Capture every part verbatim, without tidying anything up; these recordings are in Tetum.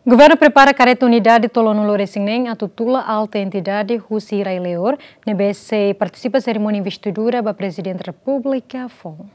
Governu prepara kareta unidade tolunulu-resin-neen atu tula alta entidade husi rai Leor, ne'ebé sei partisipa serimónia investidura ba Prezidente Repúblika foun.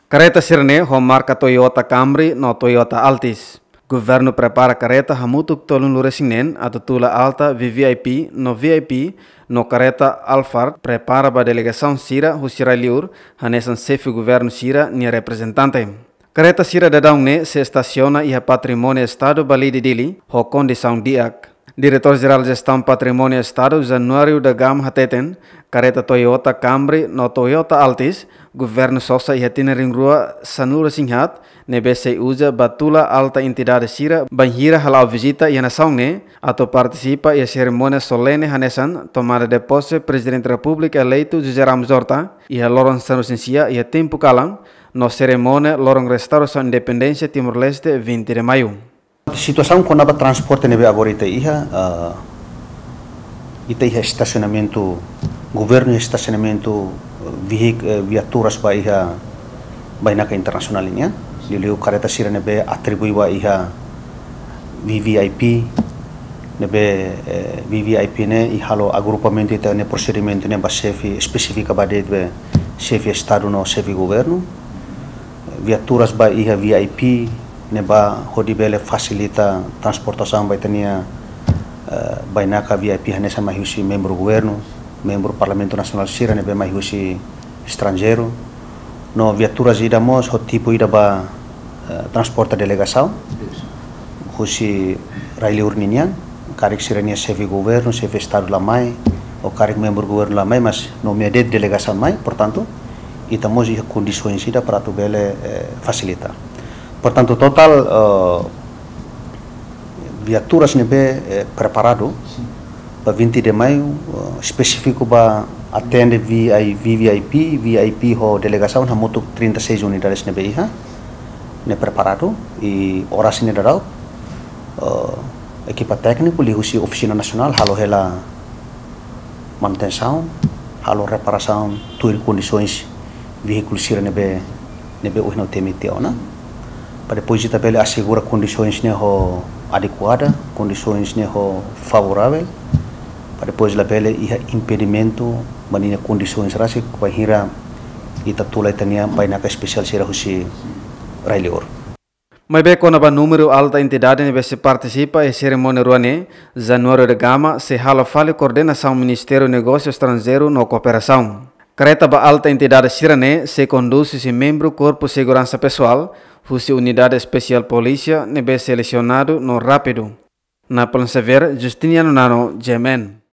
Kareta sira-ne'e ho marka Toyota Camry no Toyota Altis. Governu prepara kareta hamutuk tolunulu-resin-neen atu tula alta V V I P no V I P no kareta Alphard prepara ba delegasaun sira husi rai Leor, hanesan xefe governu sira-nia reprezentante. Kareta sira daudaun ne'e sei estasiona iha Patrimóniu Estadu Balide Dili ho kondisaun di'ak. Diretór Jerál Jestaun Patrimóniu Estadu, Januário da Gama, hateten, kareta Toyota Camry no Toyota Altis, governu sosa iha tinan rihun rua sanulu-resin-haat, ne'ebé sei uza ba tula alta entidade sira bainhira hala'o vizita iha nasaun ne'e, atu partisipa iha serimónia solene hanesan tomada de posse Prezidente Repúblika eleitu José Ramos Horta, iha loron sanulu-resin-sia iha tempu kalan, no serimónia loron restaurasaun independénsia Timor-Leste, vinte de Maio. Situasaun kona-ba transporte ne'ebé agora ita iha, ah, ita iha estasionamentu, governu iha estasionamentu, eh, vehik-, eh, viaturas ba iha bainaka internasionál nian. Liuliu kareta sira ne'ebé atribui ba iha V V I P, ne'ebé, eh, V V I P ne'e i halo agrupamentu ita-nia prosedimentu ne'e ba xefe, espesifika ba de'it be xefe Estadu no xefe governu. Viaturas ba iha V I P ne'ebá hodi bele fasilita transportasaun ba ita-nia, eh, bainaka V I P hanesan mai husi membru governu, membru Parlamentu Nasionál sira ne'ebé mai husi estranjeiru. No viaturas ida mós ho tipu ida ba, eh, transporta delegasaun husi rai Leor ninian, karik sira-nia xefe governu, xefe Estadu la mai, ou karik membru governu la mai, mas nomeia de'it delegasaun mai, portantu, ita mós iha kondisoens ida para atu bele, eh, fasilita. Portantu, totál, eh, viaturas ne'ebé, eh, preparadu ba vinte de Maio, eh, espesífiku ba atende V I, V V I P, V I P ho delegasaun hamutuk trinta e seis unidades ne'ebé iha, ne'e preparadu, i oras ne'e daudaun, eh, ekipa tékniku liuhusi Ofisina Nasionál halo hela manutensaun, halo reparasaun, tuir kondisoens veíkulu sira ne'ebé, ne'ebé ohin ha'u temi tiha ona. Para depois ita bele asegura kondisoens ne'e ho adekuada, kondisoens ne'e ho favoravel, para depois labele iha impedimentu ba ninia kondisoens rasik bainhira ita tula ita-nia bainaka espesiál sira husi rai Leor. Maibé kona-ba númeru alta entidade ne'ebé sei partisipa iha serimónia rua ne'e, Januário da Gama sei halo fali koordenasaun Ministériu Negósiu Estranjeiru no Kooperasaun. Kareta ba alta entidade sira-ne'e sei kondús husi membru Korpu Seguransa Pesoál, husi Unidade Espesiál Polísia ne'ebé selesionadu no rápidu. Napoleon Xavier, Justiniano Nano, G M N.